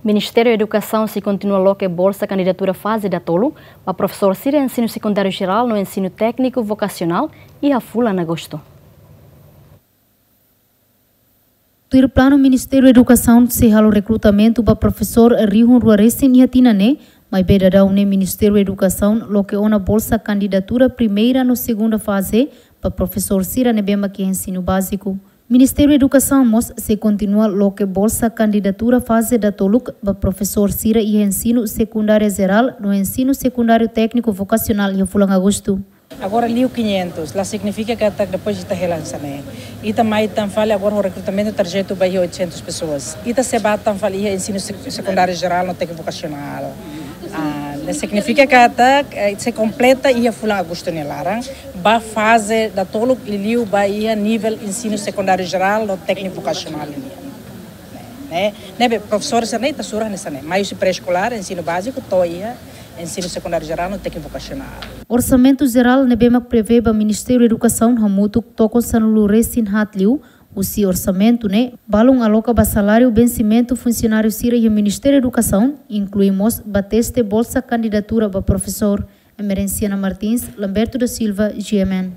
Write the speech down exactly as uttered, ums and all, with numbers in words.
Ministériu Edukasaun sei kontinua loke bolsa kandidatura faze datoluk ba profesór sira ensinu sekundáriu jerál no ensinu tékniku vokasionál iha fulan Agostu. Tuir planu, Ministériu Edukasaun sei halo rekrutamentu ba profesór rihun rua resin iha tinan ne'e, maibé daudaun ne'e Ministériu Edukasaun loke ona bolsa kandidatura primeira no segunda faze ba profesór sira ne'ebé mak iha ensinu báziku. Ministériu Edukasaun mós sei kontinua loke bolsa kandidatura faze datoluk ba profesór sira iha ensinu sekundáriu jerál no ensinu sekundáriu tékniku vokasionál iha fulan Agostu. Agora liu quinhentos, la signifika katak depois ita hela hanesan ne'e. Ita mai tan fali agora ho rekrutamentu tarjetu ba iha oitocentos pessoas. Ita sei ba tan fali iha ensinu sek-, sekundáriu jerál no tékniku vokasionál. Ah, ne'e signifika katak, eh, sei kompleta iha fulan Agostu nia laran ba faze datoluk liuliu ba iha nivel ensinu sekundáriu jerál no tékniku vokasionál nian. Ne'e, ne'ebé profesór sira ne'e ita sura hanesan ne'e. Mai husi pré-eskolár, ensinu báziku, to'o iha ensinu sekundáriu jerál no tékniku vokasionál. Orsamentu jerál ne'ebé mak prevee ba Ministériu Edukasaun hamutuk tokon sanulu resin haat liu. Husi orsamentu ne'e, balun aloka ba saláriu vensimentu funsionáriu sira iha Ministériu Edukasaun, inklui mós ba teste bolsa kandidatura ba profesór. Emerenciana Martins, Lamberto da Silva, G M N.